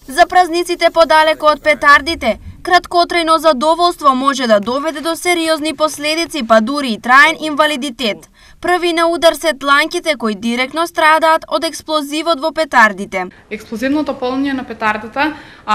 За празниците подалеку од петардите, краткотрајно задоволство може да доведе до сериозни последици, па дури и траен инвалидитет. Први на удар се тланките кои директно страдаат од експлозивот во петардите. Експлозивното полнење на петардата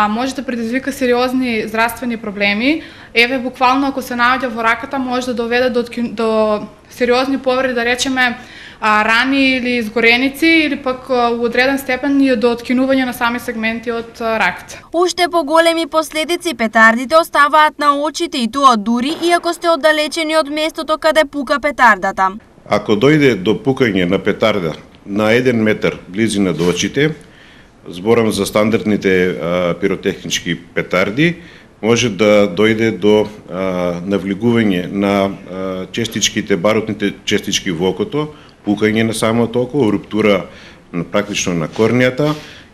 може да предизвика сериозни здравствени проблеми. Еве буквално ако се наоѓа во раката може да доведе до сериозни повреди, да речеме рани или изгореници, или пак у одреден степен и до откинување на сами сегменти од раката. Уште поголеми последици петардите оставаат на очите, и тоа дури и ако сте оддалечени од местото каде пука петардата. Ако дојде до пукање на петарда на 1 метар близина до очите, зборам за стандардните пиротехнички петарди, може да дојде до навлегување на честичките, барутните честички во окото, пукање на самото око, руптура практично на корнијата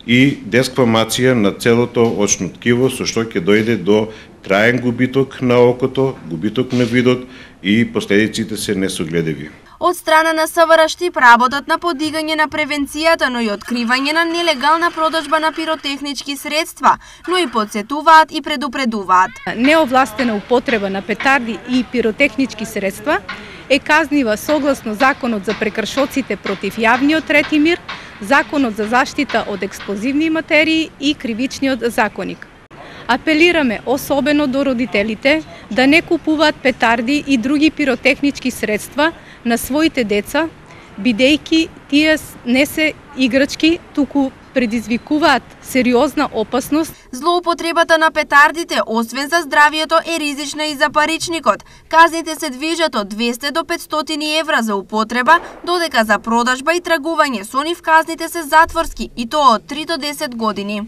и десквамација на целото очно ткиво, со што ќе дојде до траен губиток на окото, губиток на видот и последиците се несогледиви. Од страна на СВР Штип работат на подигање на превенцијата, но и откривање на нелегална продажба на пиротехнички средства, но и подсетуваат и предупредуваат. Неовластена употреба на петарди и пиротехнички средства е казнива согласно Законот за прекршоците против јавниот ред и мир, Законот за заштита од експлозивни материи и Кривичниот законник. Апелираме особено до родителите да не купуваат петарди и други пиротехнички средства на своите деца, бидејќи тие не се играчки, туку предизвикуваат сериозна опасност. Злоупотребата на петардите, освен за здравието, е ризична и за паричникот. Казните се движат од 200 до 500 евра за употреба, додека за продажба и тргување со нив казните се затворски, и тоа од 3 до 10 години.